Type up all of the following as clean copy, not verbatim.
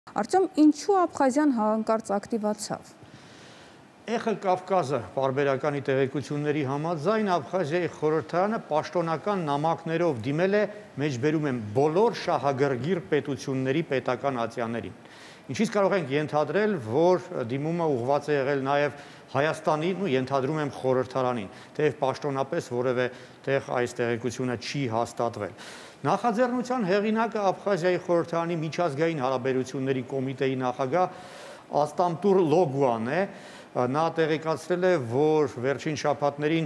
Արտյոմ, ինչու Աբխազիան հանկարծ ակտիվացավ։ Էխը Կավկազը պարբերականի տեղեկությունների համաձայն Աբխազիայի խորհրդարանը պաշտոնական նամակներով դիմել է մեջբերում եմ բոլոր շահագրգիռ պետությունների պետական ատյաններին։ Ինչից կարող ենք ենթադրել, որ դիմումը ուղղված է եղել նաև Հայաստանին ու ենթադրում եմ խորհրդարանին, թեև պաշտոնապես որևէ տեղ այս տեղեկությունը չի հաստատվել։ Նախաձեռնության հեղինակը Աբխազիայի խորհրդարանի միջազգային հարաբերությունների կոմիտեի նախագահ Աստամտուր Լոգուան է։ Նա տեղեկացրել է, որ վերջին շաբաթներին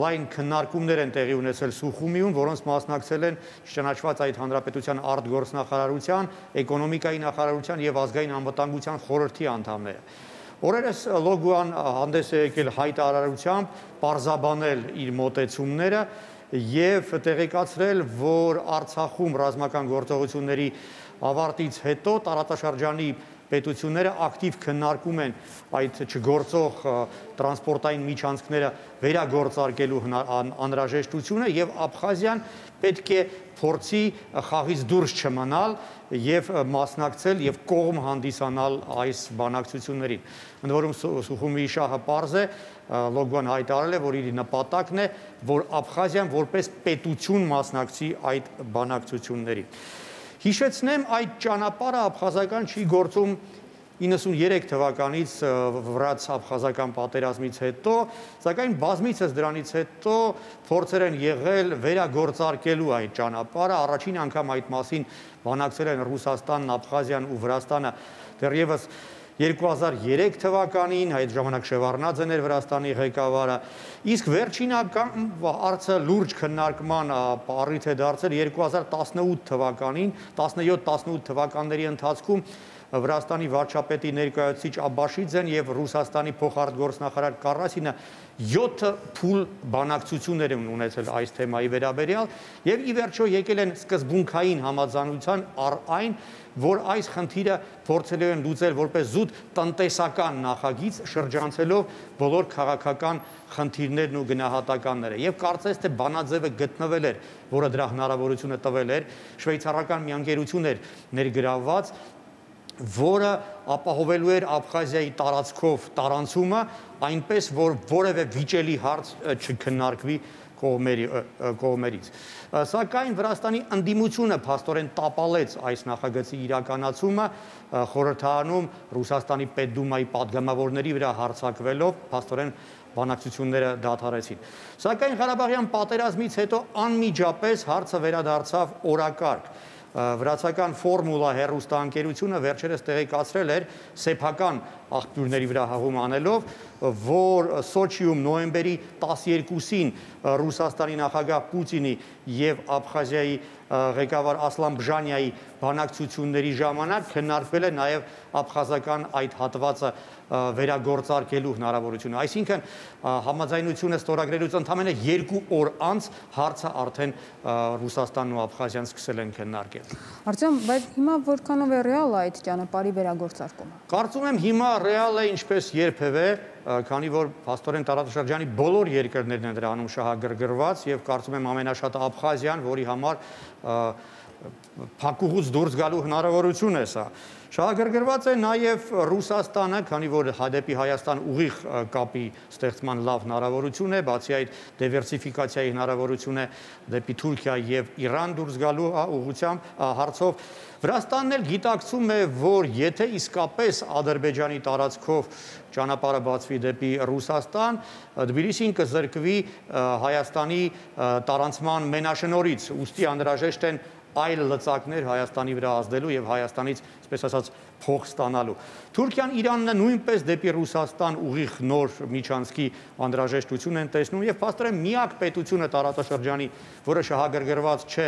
լայն քննարկումներ են տեղի ունեցել Սուխումիում, որոնց մասնակցել են ճանաչված այդ հանրապետության արտգործնախարարության, էկոնոմիկայի նախարարության եւ ազգային անվտանգության խորհրդի անդամները։ Օրերս Լոգուան հանդես է եկել հայտարարությամբ պարզաբանել իր մոտեցումները եւ տեղեկացրել, որ Արցախում ռազմական գործողությունների ավարտից հետո տարածաշրջանի պետությունները ակտիվ քննարկում են այդ չգործող տրանսպորտային միջանցքները վերագործարկելու անհրաժեշտությունը եւ Աբխազիան պետք է փորձի խաղից դուրս չմնալ եւ մասնակցել եւ կողմ հանդիսանալ այս բանակցություններին։ Ընդ որում Սուխումիի շահը պարզ է, Լոգուան հայտարարել է, որ իր նպատակն է, որ Աբխազիան որպես պետություն մասնակցի այդ բանակցություններին։ Հիշեցնեմ, այդ ճանապարհը աբխազական չի գործում 93 թվականից վրաց-աբխազական պատերազմից հետո, սակայն բազմիցս դրանից հետո փորձեր են եղել վերագործարկելու այդ ճանապարհը, առաջին անգամ այդ մասին բանակցել են Ռուսաստանն, Աբխազիան ու Վրաստանը դեռևս 2003 թվականին, այդ ժամանակ Շևարդնաձեն էր Վրաստանի ղեկավարը, իսկ վերջինական հարցը լուրջ քննարկման առիթ է դարձել 2018 թվականին, 17-18 թվականների ընթացքում Վրաստանի վարչապետի ներկայացուցիչ Աբաշիձեն եւ Ռուսաստանի փոխարտգործնախարար Կարասինը 7 փուլ բանակցություններ են ունեցել այս թեմայի վերաբերյալ եւ ի վերջո եկել են սկզբունքային համաձայնության այն, որ այս խնդիրը փորձելու են լուծել որպես զուտ տնտեսական նախագիծ, շրջանցելով բոլոր քաղաքական խնդիրներն ու գնահատականները։ Եվ կարծես թե բանաձևը գտնվել էր, որը դրա հնարավորությունը տվել էր, շվեյցարական մի ընկերություն էր ներգրավված, որը ապահովելու էր Աբխազիայի տարածքով տարանցումը, այնպես որ որևէ վիճելի հարց չքննարկվի կողմերից։ Սակայն Վրաստանի ընդդիմությունը փաստորեն տապալեց այս նախագծի իրականացումը, խորհրդարանում Ռուսաստանի Պետդումայի падգամավորների վրա հարձակվելով, փաստորեն բանակցությունները դադարեցին։ Սակայն Ղարաբաղյան պատերազմից հետո անմիջապես հարցը վերադարձավ օրակարգ։ Վրացական ֆորմուլա հեռուստաընկերությունը վերջերս տեղեկացրել էր սեփական աղբյուրների վրա հաղում անելով, որ Սոչիում նոյեմբերի 12-ին Ռուսաստանի նախագահ Պուտինի եւ Աբխազիայի ղեկավար Ասլան Բժանյայի բանակցությունների ժամանակ քննարկվել է նաեւ աբխազական այդ հատվածը վերագործարկելու հնարավորությունը։ Այսինքն համաձայնությունը ստորագրելուց ընդամենը 2 օր անց հարցը արդեն Ռուսաստանն ու Աբխազիան սկսել են քննարկել։ Արտյոմ, բայց հիմա որքանով է ռեալ այդ ճանապարհի վերագործարկումը։ Կարծում եմ հիմա ռեալ է ինչպես երբևէ, քանի որ փաստորեն տարածաշրջանի բոլոր երկրներն են դրանում շահագրգռված եւ կարծում եմ ամենաշատը Աբխազիան, որի համար փակուղուց դուրս գալու հնարավորություն է սա։ Շահագրգռված է նաև Ռուսաստանը, քանի որ դեպի Հայաստան ուղիղ կապի ստեղծման լավ հնարավորություն է, բացի այդ դիվերսիֆիկացիայի հնարավորություն է դեպի Թուրքիա եւ Իրան դուրս գալու ուղղությամբ հարցով։ Վրաստանն էլ գիտակցում է, որ եթե իսկապես Ադրբեջանի տարածքով ճանապարհը բացվի դեպի Ռուսաստան, Թբիլիսին կզրկվի Հայաստանի տարանցման մենաշնորհից, ուստի անհրաժեշտ են այլ լծակներ Հայաստանի վրա ազդելու եւ Հայաստանից, այսպես ասած, փող ստանալու։ Թուրքիան, Իրանն նույնպես դեպի Ռուսաստան ուղիղ նոր միջանցքի անհրաժեշտություն են տեսնում եւ փաստորեն միակ պետությունը տարածաշրջանի, որը շահագրգռված չէ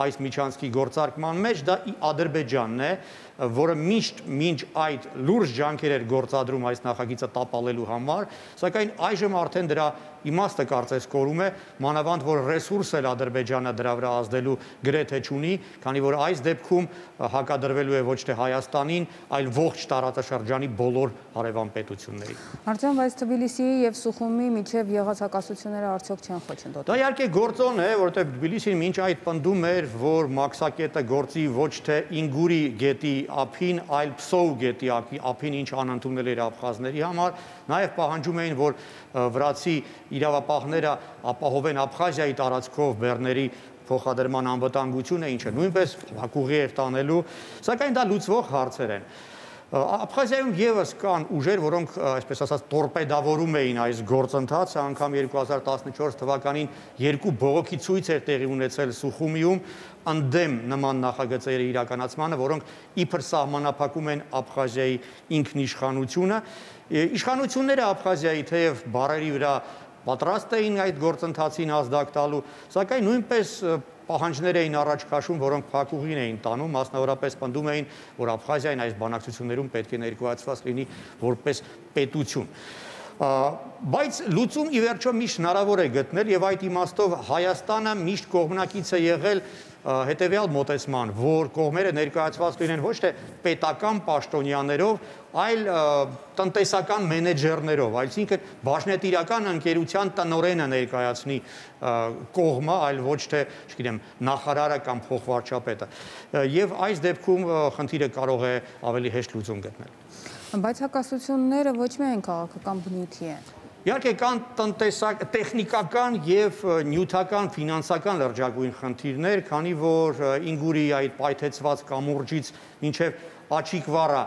այս միջանցքի գործարկման մեջ, դա Ադրբեջանն է, որը մինչ այդ լուրջ ջանքեր էր գործադրում այս նախագիծը տապալելու համար, սակայն այժմ արդեն դրա իմաստը կարծես կորում է, մանավանդ որ ռեսուրս էլ Ադրբեջանը դրա վրա ազդելու գրեթե չունի, քանի որ այս դեպքում հակադրվելու է ոչ թե Հայաստանին, այլ ողջ տարածաշրջանի բոլոր հարևան պետություններին։ Արտյոմ, բայց Թբիլիսիի եւ Սուխումի միջև եղած հակասությունները արդյոք չեն խոչընդոտել։ Դա իհարկե գործոն է, որովհետեւ Թբիլիսին մինչ այդ պնդում էր, որ մաքսակետը գործի ոչ թե Ինգուրի գետի ափին, այլ Պսոու գետի ափին, ինչ անընդունել էր աբխազների համար, նաև պահանջում էին, որ վրացի իրավապահները ապահովեն Աբխազիայի տարածքով բեռների փոխադրման անվտանգությունը, ինչը նույնպես հակուղի էր տանելու, սակայն դա լուծվող հարցեր են։ Աբխազիայում եւս կան ուժեր, որոնք, այսպես ասած, տորպեդավորում էին այս գործընթացը, անգամ 2014 թվականին երկու բողոքի ցույց էր տեղի ունեցել Սուխումիում ընդդեմ նման նախագծերի իրականացմանը, որոնք իբր սահմանափակում են Աբխազիայի ինքնիշխանությունը։ Իշխանությունները Աբխազիայի թեև բառերի վրա պատրաստ էին այդ գործընթացին ազդակ տալու, սակայն նույնպես պահանջներ էին առաջ քաշում, որոնք փակուղին էին տանում, մասնավորապես պնդում էին, որ Աբխազիային այս բանակցություններում պետք է ներկայացված լինի որպես պետություն։ Բայց լուծում ի վերջո միշտ հնարավոր է գտնել եւ այդ իմաստով Հայաստանը միշտ կողմնակից է եղել հետեւյալ մոտեցման, որ կողմերը ներկայացված լինեն ոչ թե պետական պաշտոնյաներով, այլ տնտեսական մենեջերներով, այսինքն բաժնետիրական ընկերության տնօրենը ներկայացնի կողմը, այլ ոչ թե, չգիտեմ, նախարարը կամ փոխվարչապետը։ Եվ այս դեպքում խնդիրը կարող է ավելի հեշտ լուծում գտնել։ Բայց հակասությունները ոչ միայն քաղաքական բնույթի են։ Իհարկե կան տեխնիկական եւ նյութական ֆինանսական լրջագույն խնդիրներ, քանի որ Ինգուրի այդ պայթեցված կամուրջից մինչեւ Աչիկվառա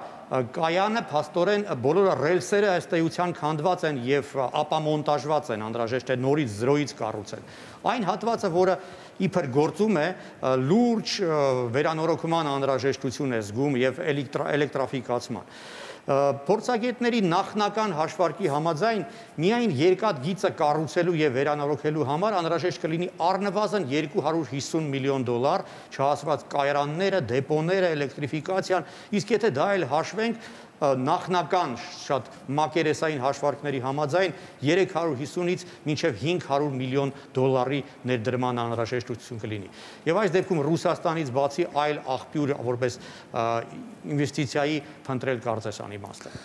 կայանը փաստորեն բոլոր ռելսերը ըստ էության քանդված են եւ ապամոնտաժված են, անհրաժեշտ է նորից զրոյից կառուցել։ Այն հատվածը, որը իբր գործում է, լուրջ վերանորոգման անհրաժեշտություն է զգում եւ էլեկտրաֆիկացման։ Փորձագետների նախնական հաշվարկի համաձայն միայն երկաթ գիծը կառուցելու եւ վերանորոգելու համար անհրաժեշտ կլինի առնվազն $250 միլիոն, չհասված կայարանները, դեպոները, էլեկտրիֆիկացիան, իսկ եթե դա էլ հաշվենք, նախնական շատ մակերեսային հաշվարկների համաձայն 350-ից մինչև $500 միլիոն ներդրման անհրաժեշտություն կլինի։ Եվ այս դեպքում Ռուսաստանից բացի այլ աղբյուր որպես ինվեստիցիայի փնտրել կարծես անիմաստ է։